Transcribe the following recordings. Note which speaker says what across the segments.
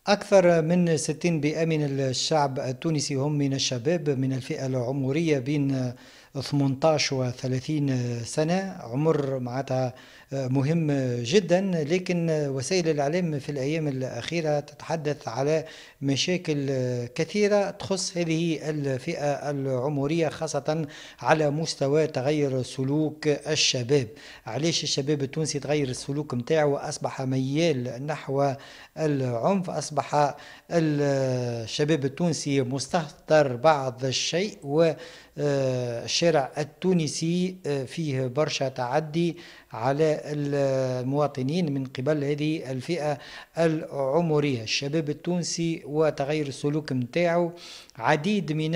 Speaker 1: أكثر من 60% من الشعب التونسي هم من الشباب من الفئة العمرية بين 18 و 30 سنة، عمر معناتها مهم جدا. لكن وسائل الإعلام في الأيام الأخيرة تتحدث على مشاكل كثيرة تخص هذه الفئة العمرية، خاصة على مستوى تغير سلوك الشباب. علاش الشباب التونسي تغير السلوك متاعه وأصبح ميال نحو العنف؟ أصبح الشباب التونسي مستهتر بعض الشيء، والشارع التونسي فيه برشا تعدي على المواطنين من قبل هذه الفئة العمرية. الشباب التونسي وتغير السلوك متاعه، عديد من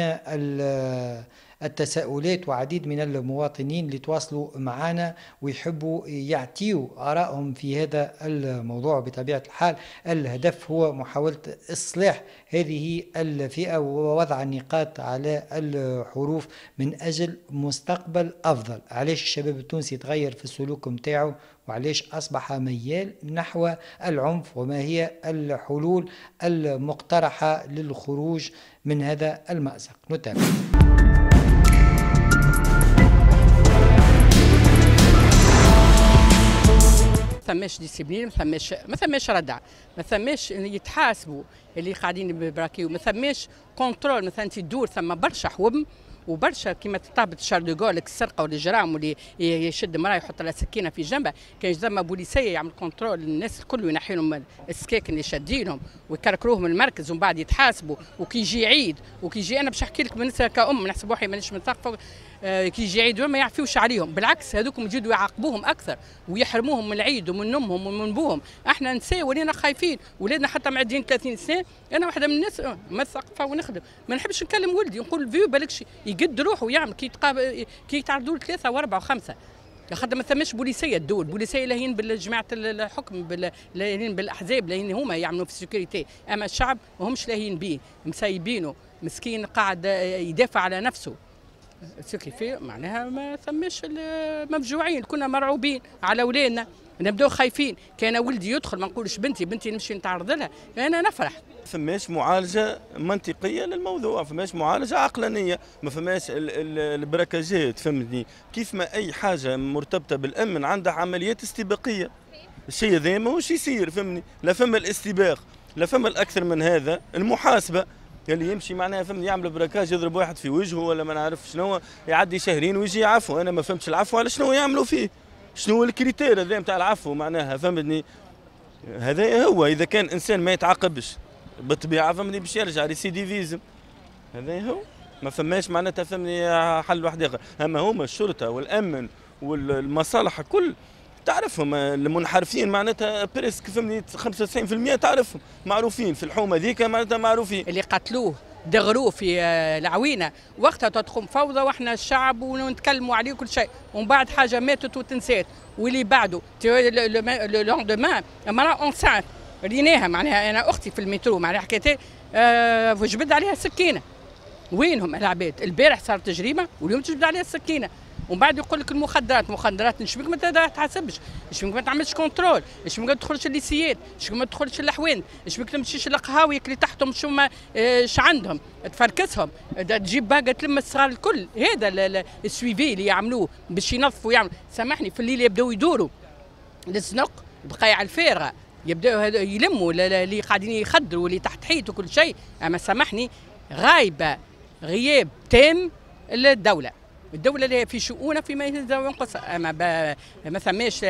Speaker 1: التساؤلات وعديد من المواطنين اللي تواصلوا معنا ويحبوا يعطيوا آرائهم في هذا الموضوع. بطبيعة الحال الهدف هو محاولة إصلاح هذه الفئة ووضع النقاط على الحروف من أجل مستقبل أفضل. علاش الشباب التونسي تغير في السلوك متاعه وعلاش أصبح ميال نحو العنف، وما هي الحلول المقترحة للخروج من هذا المأزق؟ نتابع.
Speaker 2: ثماش discipline، ما ثماش ردع، ما ثماش يتحاسبوا اللي قاعدين يبراكيو، ما ثماش contrôle. مثلا تدور ثم برشا حوم وبرشا كيما تهبط شارل دوغول السرقة والاجرام واللي يشد مراة يحط لها سكينة في جنبه، كان ثم بوليسيه يعمل contrôle الناس الكل وينحي لهم السكاكن اللي شادينهم ويكركروهم من المركز ومن بعد يتحاسبوا. وكي يجي عيد وكي يجي، انا باش نحكي لك بالنسبة كأم نحسب روحي مانيش مثقفة، كي يجي عيد ما يعفيوش عليهم، بالعكس هذوكم يزيدوا يعاقبوهم اكثر ويحرموهم من العيد ومن امهم ومن بوهم. احنا نساء ولينا خايفين، ولادنا حتى معدين 30 سنة. انا واحدة من الناس مثقفة ونخدم، ما نحبش نكلم ولدي نقول فيو بالكش يقد روحه ويعمل كي يتعرضوا ل3 و4 و5، خاطر ما ثماش بوليسيه. الدول بوليسيه لاهين بالجماعة الحكم، لاهين بالاحزاب، لاهين هما يعملوا في ال sécurité، اما الشعب ماهمش لاهين بيه، مسيبينه مسكين قاعد يدافع على نفسه. ce qui fait معناها ما ثماش، مفجوعين، كنا مرعوبين على اولادنا، نبداو خايفين. كان ولدي يدخل ما نقولش بنتي، بنتي نمشي نتعرض لها، انا نفرح.
Speaker 3: فماش معالجة منطقية للموضوع، فماش معالجة عقلانية، ما فماش البراكاجات، فهمتني؟ كيف ما اي حاجة مرتبطة بالامن عندها عمليات استباقية. الشيء هذا ماهوش يصير، فهمني؟ لا فما الاستباق، لا فما الاكثر من هذا المحاسبة. اللي يمشي معناها فهمني يعمل braquage يضرب واحد في وجهه ولا ما نعرف شنو، يعدي شهرين ويجي يعفو. انا ما فهمتش العفو على شنو يعملوا فيه، شنو هو ال critère هذا نتاع العفو معناها، فهمتني؟ هذا هو. اذا كان انسان ما يتعاقبش بالطبيعة فهمني باش يرجع récidivisme، هذا هو. ما فماش معناتها فهمني حل واحد اخر. اما هما الشرطة والامن والمصالح كل تعرفهم المنحرفين معناتها presque فهمني 95% تعرفهم، معروفين في الحومه ذيك معناتها معروفين.
Speaker 2: اللي قتلوه دغروه في العوينة وقتها تدخل فوضى واحنا الشعب ونتكلموا عليه كل شيء، ومن بعد حاجة ماتت وتنسات. واللي بعده le lendemain مراة enceinte ريناها معناها، انا اختي في المترو معناها حكيت جبد عليها السكينة. وينهم العباد؟ البارح صارت جريمة واليوم تجبد عليها السكينة. ومن بعد يقول لك المخدرات، مخدرات شبيك ما تحاسبش، شبيك ما تعملش contrôle، شبيك ما تدخلش الليسيات، شبيك ما تدخلش الحوانت، شبيك ما تمشيش القهاوي اللي تحتهم شو ما اش عندهم، تفركسهم، تجيب باقه تلم الصغار الكل. هذا ال suivi اللي يعملوه باش ينظفوا يعملوا. سامحني في الليل يبداو يدوروا للزنق بقايع الفارغة، يبداو يلموا اللي قاعدين يخدروا واللي تحت حيط وكل شيء. اما سامحني غايبة غياب تام للدولة. الدولة اللي في شؤونها فيما ينقص، اما ما ثماش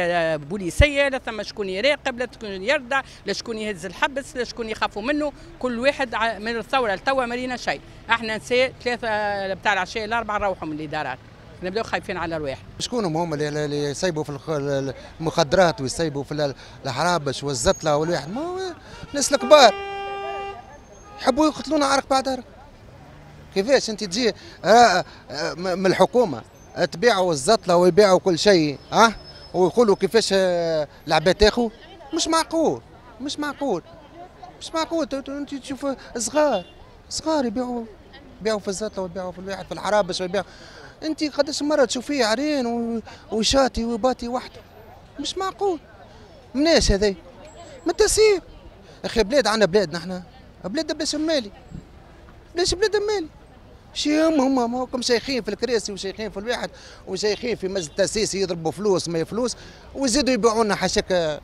Speaker 2: بوليسيه، لا ثم شكون يراقب، لا شكون يردع، لا شكون يهز الحبس، لا شكون يخافوا منه. كل واحد من الثورة لتوا ما لينا شيء. احنا نساء 3 بتاع العشاء 4 نروحوا من الادارات، نبداو خايفين على رواحنا.
Speaker 4: شكون هم اللي يسيبوا في المخدرات ويسيبوا في الحرابش والزتله والواحد؟ ما الناس الكبار يحبوا يقتلونا عرق بعد عرق. كيفاش انت تجي من الحكومة تبيعوا الزطله ويبيعوا كل شيء ها ويقولوا كيفاش العباد تاخذ؟ مش معقول، مش معقول، مش معقول. انت تشوف صغار صغار يبيعوا في الزطله ويبيعوا في الواحد في الحرابش ويبيعوا. انت قداش مرة تشوفيه عرين وشاتي وباتي وحده، مش معقول. مناش هذا؟ من التسيب. اخي بلاد عندنا بلاد، نحن بلاد بلاش مالي، بلاش بلاد مالي. شي هم هما شيخين في الكراسي وشيخين في الواحد وشيخين في مجلس التاسيسي، يضربوا فلوس ما فلوس ويزيدوا يبيعوا لنا حاشاك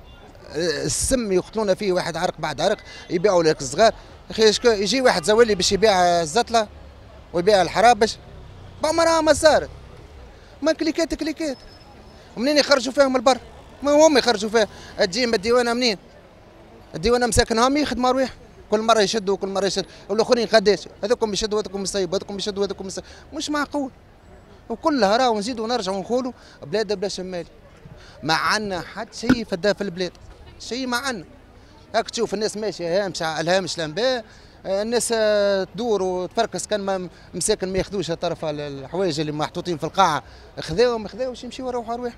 Speaker 4: السم، يقتلونا فيه واحد عرق بعد عرق، يبيعوا لك الصغار. اخي يجي واحد زوالي باش يبيع الزتله ويبيع الحرابش، بعمرها ما صارت. ما كليكات كليكات منين يخرجوا فيهم البر؟ ما هم يخرجوا فيها، تجي من الديوانه منين؟ الديوانه مساكنهم يخدموا ارواح، كل مرة يشدوا كل مرة يشدوا، والاخرين قداش؟ هذوكم يشدوا هذوكم يصيبوا هذوكم يشدوا هذوكم يصيبوا، مش معقول. وكلها راهو نزيدوا ونرجعوا نقولوا بلاد بلا شمالي. ما عندنا حتى شيء في البلاد، شيء ما عندنا. هاك تشوف الناس ماشية هامش على الهامش الانباء، الناس تدور وتفركس، كان ما مساكن ما ياخذوش طرف الحوايج اللي محطوطين في القاعة، خذاوهم ما خذاوش يمشيو يروحوا ارواح.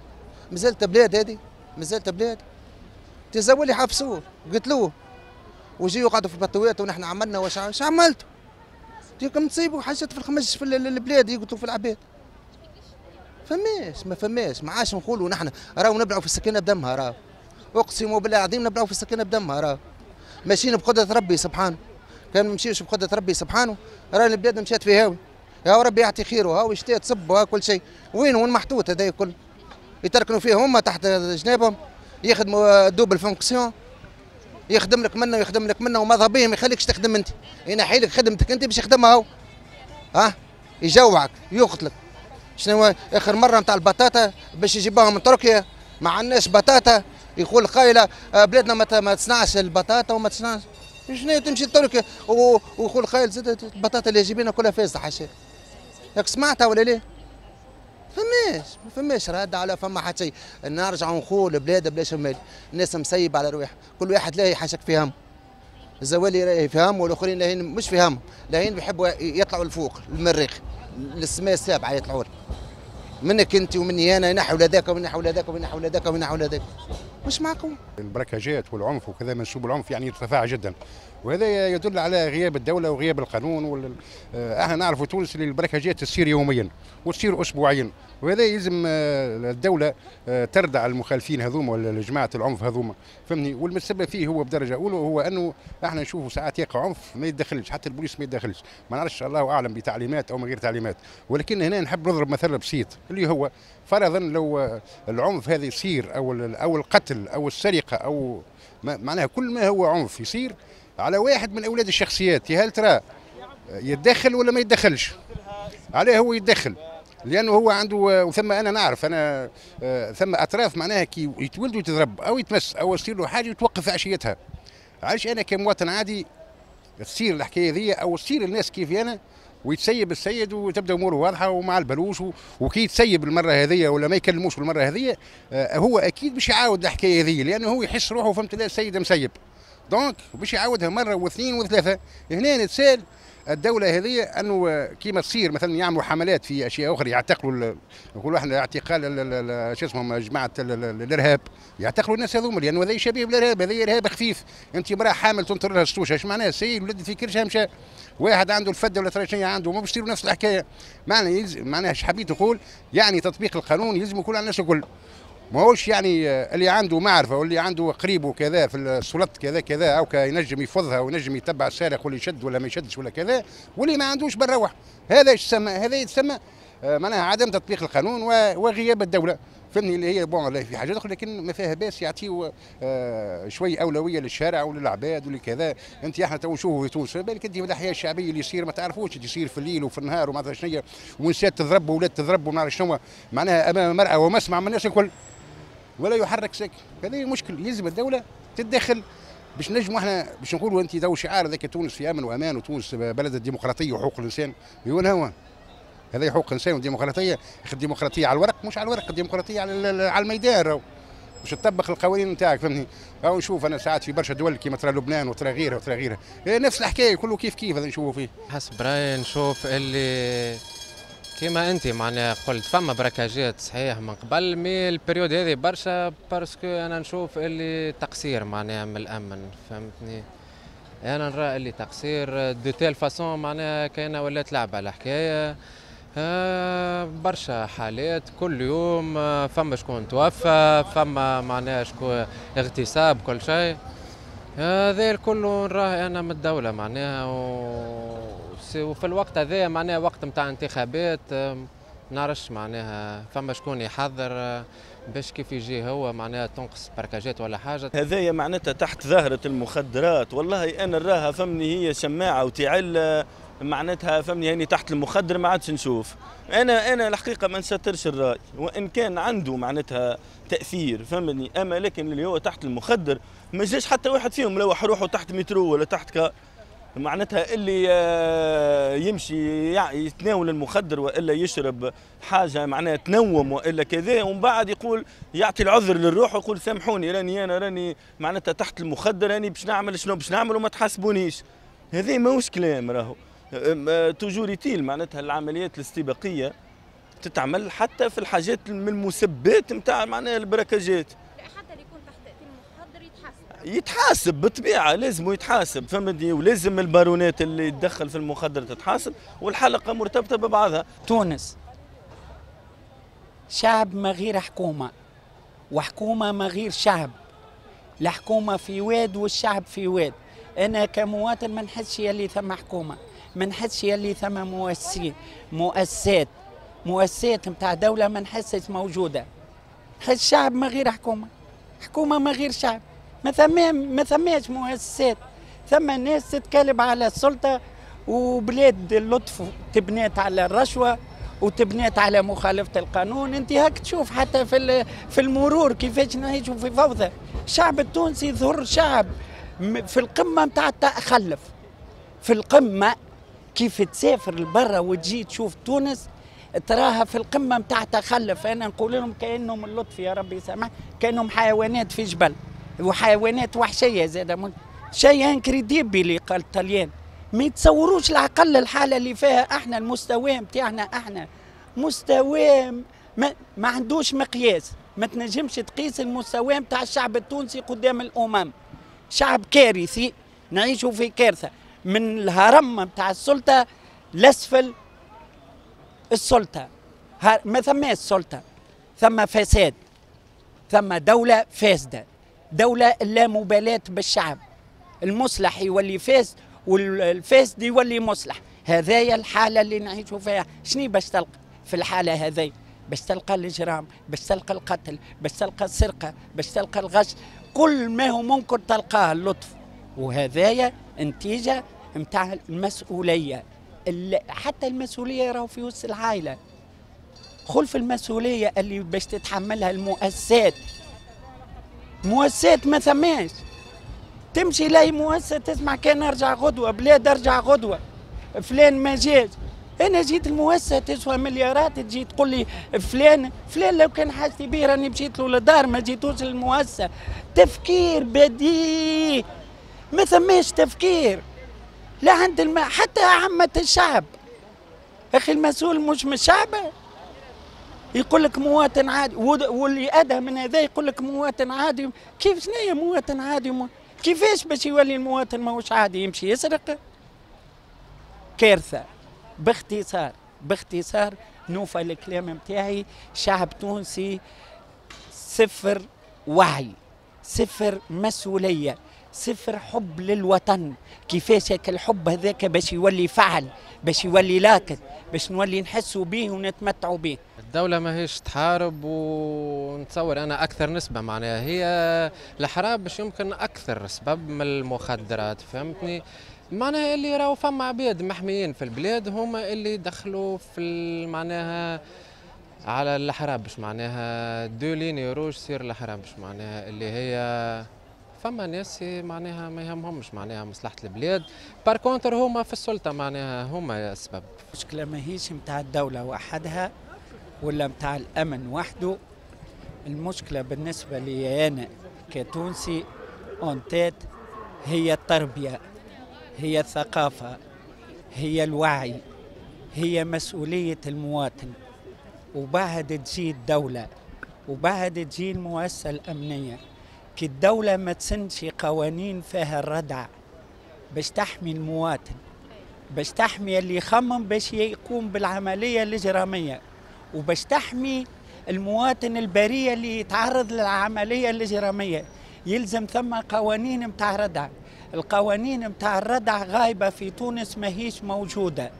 Speaker 4: مازالت بلاد هذه، مازالت بلاد. تزولي حبسوه قتلوه وجيو قعدوا في البطوات ونحن عملنا واش عملتوا؟ تيكم تصيبوا حاجات في الخمج في البلاد يقتلوا في العباد. فماش ما فماش، ما عادش نقولوا نحن راهو نبلعوا في السكينة بدمها، راهو اقسم بالله العظيم نبلعوا في السكينة بدمها، راهو ماشيين بقدره ربي سبحانه. كان ما نمشيوش بقدره ربي سبحانه راهي البلاد مشات في هاوي. يا ربي يعطي خيره، هاو شتاء تصب وها كل شيء، وين محطوط هذا الكل؟ يتركنوا فيه هما تحت جنابهم، يخدموا double fonction، يخدم لك منه ويخدم لك منه وماذا بهم يخليكش تخدم انت، ينحي لك خدمتك انت باش يخدمها هو. ها يجوعك يقتلك. شنو اخر مرة نتاع البطاطا باش يجيبوها من تركيا، ما عندناش بطاطا، يقول قايله بلادنا ما تصنعش البطاطا وما تصنعش. شنو تمشي لتركيا ويقول قايل زاد البطاطا اللي جايبينها كلها فاسدة حاشاك. ياك سمعتها ولا ليه؟ فماش ما فماش رد على فما حتى شيء. نرجعوا نقول بلاد بلا شمال، الناس مسيبه على رواحها، كل واحد لاهي حاشاك في هم. الزوالي راهي في هم والاخرين لاهين مش في هم، لاهين بيحبوا يطلعوا لفوق المريخ للسماء السابعة يطلعوا منك انت ومني انا، ينحوا لذاك وينحوا لذاك وينحوا لذاك وينحوا لذاك. مش معقول.
Speaker 5: البركاجات والعنف وكذا، منسوب العنف يعني ارتفع جدا، وهذا يدل على غياب الدولة وغياب القانون. احنا نعرفوا تونس اللي البركاجات تصير يوميا وتصير اسبوعيا، وهذا يلزم الدولة تردع المخالفين هذوما ولا جماعة العنف هذوما، فهمني؟ والمسبب فيه هو بدرجة اولى هو انه احنا نشوفوا ساعات يقع عنف ما يتدخلش، حتى البوليس ما يتدخلش، ما نعرفش الله اعلم بتعليمات او من غير تعليمات. ولكن هنا نحب نضرب مثل بسيط اللي هو فرضا لو العنف هذا يصير او القتل او السرقة او معناها كل ما هو عنف يصير على واحد من اولاد الشخصيات، هل ترى يتدخل ولا ما يتدخلش؟ عليه هو يتدخل، لانه هو عنده. وثم انا نعرف انا ثم اطراف معناها كي يتولد ويتضرب او يتمس او يصير له حاجة يتوقف عشيتها. علاش انا كمواطن عادي تصير الحكاية ذي او تصير الناس كيف انا ويتسيب السيد وتبدا اموره واضحة ومع البلوش، وكي يتسيب المرة هذه ولا ما يكلموش المرة هذه هو اكيد باش يعاود الحكاية هذه، لانه هو يحس روحه فهمت لا السيد مسيب، donc باش يعاودها مرة واثنين وثلاثة. هنا نتسال الدولة هذه انه كيما تصير مثلا يعملوا حملات في اشياء اخرى، يعتقلوا نقولوا احنا اعتقال شو اسمهم جماعة الارهاب، يعتقلوا الناس هذوما لانه هذا شبيه بالارهاب، هذا ارهاب خفيف. انت امراة حامل تنطر لها السوشه، اش معناها؟ السيد ولد في كرشها مشى، واحد عنده الفده ولا ترى عنده، ما باش يصيروا نفس الحكاية. معنى معناها اش حبيت نقول؟ يعني تطبيق القانون يلزم يكون على الناس الكل، ماهوش يعني اللي عنده معرفة واللي عنده قريبه كذا في السلطة كذا كذا او ينجم يفضها وينجم يتبع السارق واللي يشد ولا ما يشدش ولا كذا، واللي ما عندوش بنروح. هذا يسمى هذا يتسمى معناها عدم تطبيق القانون وغياب الدولة، فهمني؟ اللي هي bon في حاجات اخرى لكن ما فيها باس يعطيو شوي اولوية للشارع وللعباد ولكذا. انت احنا تو نشوفوا في تونس بالك انت الاحياء الشعبية اللي يصير ما تعرفوش يصير في الليل وفي النهار وما عرف شنو، ونسات تضرب واولاد تضرب وما نعرف شنو، معناها امام مرأى ومسمع من الناس الكل ولا يحرك ساكن. هذا مشكل يلزم الدولة تتدخل باش نجموا احنا باش نقولوا انت تو شعار ذاك تونس في امن وامان وتونس بلد الديمقراطية وحقوق الانسان، وين هو؟ هذا حقوق الانسان والديمقراطية، الديمقراطية على الورق مش على الورق، الديمقراطية على الميدان باش تطبق القوانين نتاعك، فهمتني؟ او نشوف انا ساعات في برشا دول كيما ترى لبنان وترى غيرها وترى غيرها، نفس الحكاية كله كيف كيف هذا نشوفوا فيه.
Speaker 6: حسب رايي نشوف اللي كيما انت معناها قلت فما براكاجات صحيح من قبل، mais ال période هذه برشا parce que انا نشوف اللي تقصير معناها من الامن، فهمتني؟ انا نرى اللي تقصير de telle façon معناها كاينه ولات لعبه الحكاية. برشا حالات كل يوم، فما شكون توفى، فما معناها شكون اغتصاب، كل شيء. هذا الكل نراه انا من الدولة معناها، وفي الوقت هذا معناها وقت نتاع انتخابات، نعرفش معناها فما شكون يحضر باش كيف يجي هو معناها تنقص braquage ات ولا حاجة.
Speaker 3: هذايا معناتها تحت ظاهره المخدرات، والله انا نراها فمني هي شماعة وتعل معناتها فهمني، يعني تحت المخدر ما عادش نشوف. انا الحقيقة ما نسترش الراي، وان كان عنده معناتها تاثير فهمني، اما لكن اللي هو تحت المخدر ما جاش حتى واحد فيهم لوح روحه تحت مترو ولا تحت car، معناتها اللي يمشي يتناول المخدر والا يشرب حاجة معناها تنوم والا كذا، ومن بعد يقول يعطي العذر للروح ويقول سامحوني راني انا راني معناتها تحت المخدر، راني باش نعمل شنو باش نعمل وما تحاسبونيش. هذا ماهوش كلام، راهو toujours est-il معناتها العمليات الاستباقيه تتعمل حتى في الحاجات من المسبات نتاع معناها ال braquage ات.
Speaker 7: حتى اللي يكون تحت تاثير المخدر يتحاسب،
Speaker 3: يتحاسب بالطبيعة، لازم يتحاسب فهمتني، ولازم البارونات اللي تدخل في المخدر تتحاسب، والحلقة مرتبطة ببعضها.
Speaker 8: تونس شعب ما غير حكومة، وحكومة ما غير شعب. الحكومة في واد والشعب في واد. انا كمواطن ما نحسش يلي ثم حكومة، ما نحسش يلي ثم مؤسسين، مؤسسات نتاع دولة ما نحسش موجودة. نحس شعب ما غير حكومة، حكومة ما غير شعب، ما ثماش مؤسسات. ثم ناس تتكلم على السلطة، وبلاد اللطف تبنات على الرشوة وتبنات على مخالفة القانون. انت هاك تشوف حتى في المرور كيفاش نعيشوا في فوضى. الشعب التونسي ظهر شعب في القمه نتاع التخلف، في القمه. كيف تسافر لبرا وتجي تشوف تونس تراها في القمه نتاع تخلف. انا نقول لهم كانهم اللطف يا ربي سامح، كانهم حيوانات في جبل، وحيوانات وحشية زاده. شيء incroyable اللي قال الطليان، ما يتصوروش العقل الحالة اللي فيها احنا، المستوى نتاعنا احنا مستوى ما عندوش مقياس. ما تنجمش تقيس المستوى نتاع الشعب التونسي قدام الامم. شعب كارثي، نعيشوا في كارثة من الهرم نتاع السلطة لاسفل السلطة. ما ثماش سلطة، ثم فساد، ثم دولة فاسدة، دولة لا مبالاة بالشعب. المصلح يولي فاسد والفاسد يولي مصلح. هذايا الحالة اللي نعيشوا فيها. شنو باش تلقى في الحالة هذي؟ باش تلقى الاجرام، باش تلقى القتل، باش تلقى السرقة، باش تلقى الغش، كل ما هو ممكن تلقاه اللطف. وهذايا نتيجة نتاع المسؤولية. حتى المسؤولية راهو في وسط العائلة. خلف المسؤولية اللي باش تتحملها المؤسسات. مؤسسات ما ثماش. تمشي لاي مؤسسة تسمع كان ارجع غدوه، بلاد ارجع غدوه، فلان ما جاش. انا جيت المؤسسة تسوى مليارات، تجي تقول لي فلان فلان لو كان حاجتي بيه راني مشيت له للدار، ما جيتوش للمؤسسه. تفكير بديهي، ما ثماش تفكير لا عند حتى عامة الشعب. اخي المسؤول مش من الشعب، يقول لك مواطن عادي، واللي ادهى من هذا يقول لك مواطن عادي. كيف شنو مواطن عادي؟ كيفاش باش يولي المواطن ماهوش عادي يمشي يسرق؟ كارثة. باختصار، باختصار نوفى الكلام نتاعي، شعب تونسي صفر وعي، صفر مسؤولية، صفر حب للوطن. كيفاش هيك الحب هذاك باش يولي فعل، باش يولي لاكت، باش نولي نحسوا به ونتمتعوا به.
Speaker 6: الدولة ماهيش تحارب، ونتصور أنا أكثر نسبة معناها هي الحراب باش يمكن أكثر سبب من المخدرات، فهمتني؟ معناها اللي راهو فما عباد محميين في البلاد هما اللي دخلوا في معناها على الحرابش، معناها deux lignes rouges سير الحرابش، معناها اللي هي فما ناس معناها ما يهمهمش معناها مصلحة البلاد، par contre هما في السلطة معناها هما السبب.
Speaker 8: المشكلة ماهيش متاع الدولة وحدها ولا متاع الأمن وحده. المشكلة بالنسبة لي أنا كتونسي en tête هي التربية، هي الثقافة، هي الوعي، هي مسؤولية المواطن. وبعد تجي الدولة وبعد تجي المؤسسة الأمنية. كي الدولة ما تسنش قوانين فيها الردع باش تحمي المواطن، باش تحمي اللي يخمم باش يقوم بالعملية الإجرامية، وباش تحمي المواطن البريء اللي يتعرض للعملية الإجرامية. يلزم ثم قوانين متاع ردع. القوانين متاع الردع غايبة في تونس، ماهيش موجودة.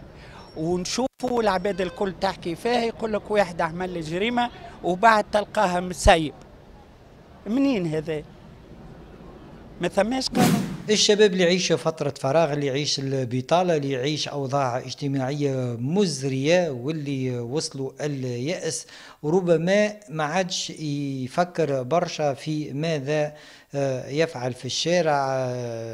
Speaker 8: ونشوفوا العباد الكل تحكي فيها، يقول لك واحد عمل جريمة وبعد تلقاها مسيب. منين هذا؟ ما ثماش قانون.
Speaker 1: الشباب اللي يعيش فترة فراغ، اللي يعيش البطالة، اللي يعيش أوضاع اجتماعية مزرية واللي وصلوا اليأس، ربما ما عادش يفكر برشا في ماذا يفعل في الشارع،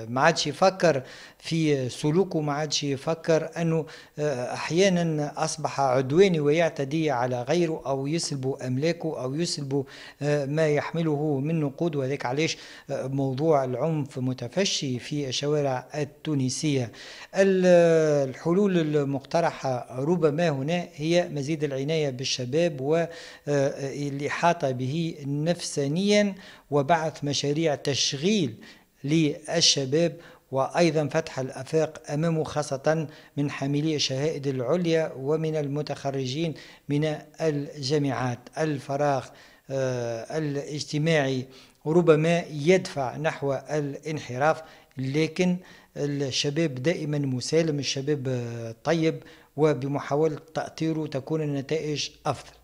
Speaker 1: ما عادش يفكر في سلوكه، ما عادش يفكر أنه أحيانا أصبح عدواني ويعتدي على غيره أو يسلب أملاكه أو يسلب ما يحمله من نقود. وذلك علاش موضوع العنف متفشي في الشوارع التونسية. الحلول المقترحة ربما هنا هي مزيد العناية بالشباب والإحاطة به نفسانيا، وبعث مشاريع تشغيل للشباب، وأيضا فتح الآفاق أمامه خاصة من حاملي الشهائد العليا ومن المتخرجين من الجامعات. الفراغ الاجتماعي ربما يدفع نحو الانحراف، لكن الشباب دائما مسالم، الشباب طيب، وبمحاولة تأطيره تكون النتائج أفضل.